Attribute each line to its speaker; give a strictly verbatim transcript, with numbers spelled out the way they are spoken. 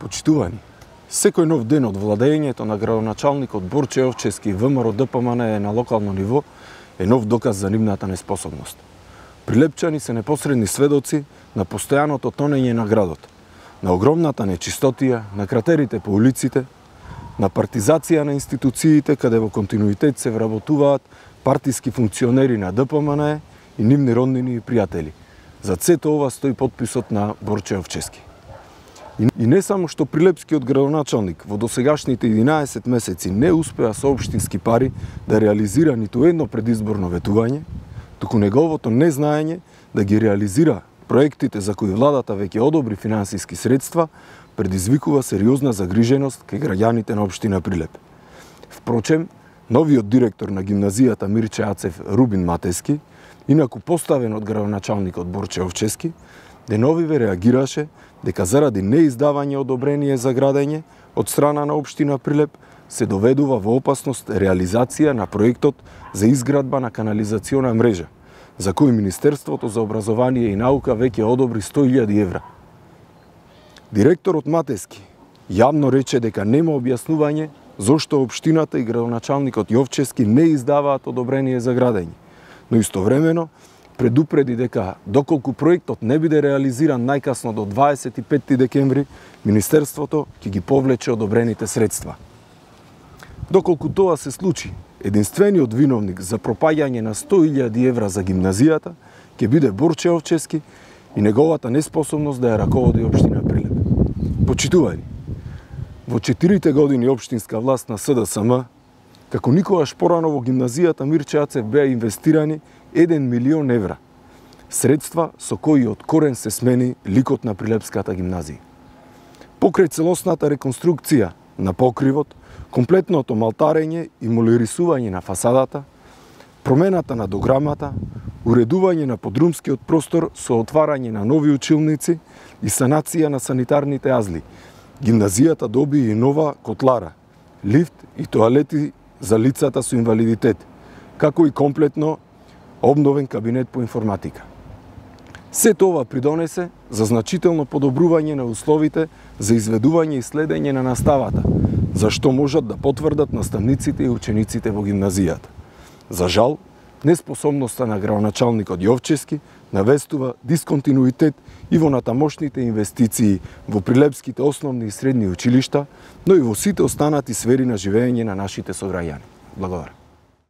Speaker 1: Почитувани, секој нов ден од владењето на градоначалникот Борче Јовчевски и ВМРО Д П М Н е на локално ниво е нов доказ за нивната неспособност. Прилепчани се непосредни сведоци на постојаното тонење на градот, на огромната нечистотија, на кратерите по улиците, на партизација на институциите каде во континуитет се вработуваат партиски функционери на Д П М Н и нивни роднини и пријатели. За сето ова стои подписот на Борче Јовчевски. И не само што прилепскиот градоначалник во досегашните единаесет месеци не успеа со општински пари да реализира ниту едно предизборно ветување, туку неговото незнаење да ги реализира проектите за кои владата веќе одобри финансиски средства, предизвикува сериозна загриженост кај граѓаните на општина Прилеп. Впрочем, новиот директор на гимназијата Мирче Ацев Рубин Матески, инаку поставен од градоначалникот Борче Јовчевски, деновиве реагираше дека заради неиздавање одобрение за градење од страна на општина Прилеп се доведува во опасност реализација на проектот за изградба на канализациона мрежа, за кој Министерството за образование и наука веќе одобри сто илјади евра. Директорот Матески јавно рече дека нема објаснување зошто општината и градоначалникот Јовчевски не издаваат одобрение за градење, но истовремено предупреди дека доколку проектот не биде реализиран најкасно до дваесет и петти декември, Министерството ќе ги повлече одобрените средства. Доколку тоа се случи, единствениот виновник за пропаѓање на сто илјади евра за гимназијата ќе биде Борче Јовчевски и неговата неспособност да ја раководи општина Прилеп. Почитувани, во четирите години општинска власт на С Д С М, како никогаш порано во гимназијата Мирче Ацев беа инвестирани еден милион евра, средства со кои од корен се смени ликот на Прилепската гимназија. Покрај целосната реконструкција на покривот, комплетното малтарење и молирисување на фасадата, промената на дограмата, уредување на подрумскиот простор со отварање на нови училници и санација на санитарните азли, гимназијата доби и нова котлара, лифт и тоалети за лицата со инвалидитет, како и комплетно обновен кабинет по информатика. Сето ова придонесе за значително подобрување на условите за изведување и следење на наставата, за што можат да потврдат наставниците и учениците во гимназијата. За жал, неспособноста на градоначалникот Јовчевски навестува дисконтинуитет и во натамошните инвестиции во прилепските основни и средни училишта, но и во сите останати сфери на живење на нашите сограѓани. Благодарам.